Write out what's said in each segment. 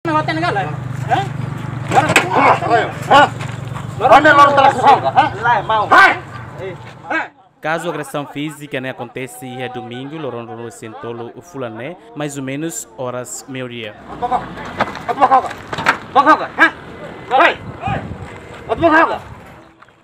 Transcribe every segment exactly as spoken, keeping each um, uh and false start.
Hotel negara, eh? Hah? Hah? Hah? Hah? Kazu agresaun fízika ne'e akontese iha domingu, loron ruanulu-resin-tolu fulan ne'e, mais ou menus oras meiudia.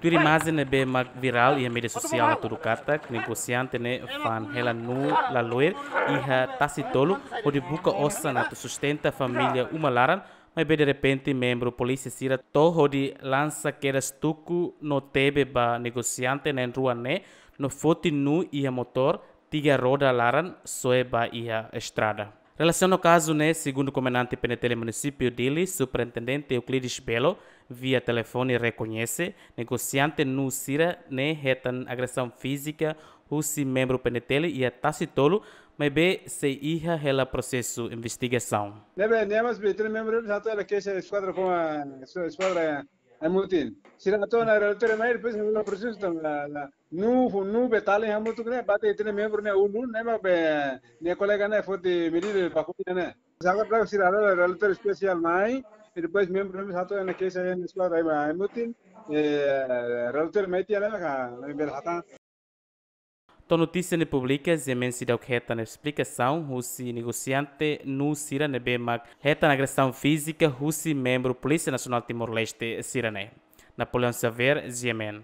Tuir imajen ne'ebé mak virál iha média sosiál hatudu katak negosiante ne'e fa'an hela nuu laloe iha tasi tolu hodi buka osan atu sustenta família uma laran, maibé derrepente membru polísia sira to'o hodi lansa kedas tuku no tebe ba negosiante na'in-rua ne'e no foti nuu iha motór tiga roda laran soe ba iha estrada. Relasiona ho kazu ne'e, segundu komandante P N T L Munisípiu Dili, Superintendente Euclides Belo, via telefone rekoñese, negosiante nuu sira ne'e hetan agresaun fízika husi membru P N T L iha tasi tolu, maibé sei iha hela prosesu investigasaun. Ne'ebé, ne'e mós be, tinan membru satu ada keixa eskuadra koma, eskuadra Aimutin. Sira atu ona relatóriu mai, depois halo prosesu tan la, la, nuu, nuu be tali hamutuk ne'e, bate tinan membru ne'e ulun, ne'e mak be, nia kolega ne'e foti medida baku ne'e. Agora sira halo relatóriu espesiál mai, e depois membru ne'e atu ona keixa iha eskuadra Aimutin, eh, relatóriu mai tiha ne'e ka, ne'e bele hatán. To'o notísia ne'e publika, G M N seidauk hetan esplikasaun husi negosiante nuu sira ne'ebé mak hetan agresaun fízika husi membru Polísia Nasionál Timor-Leste sira-ne'e. Napoleão Xavier, G M N.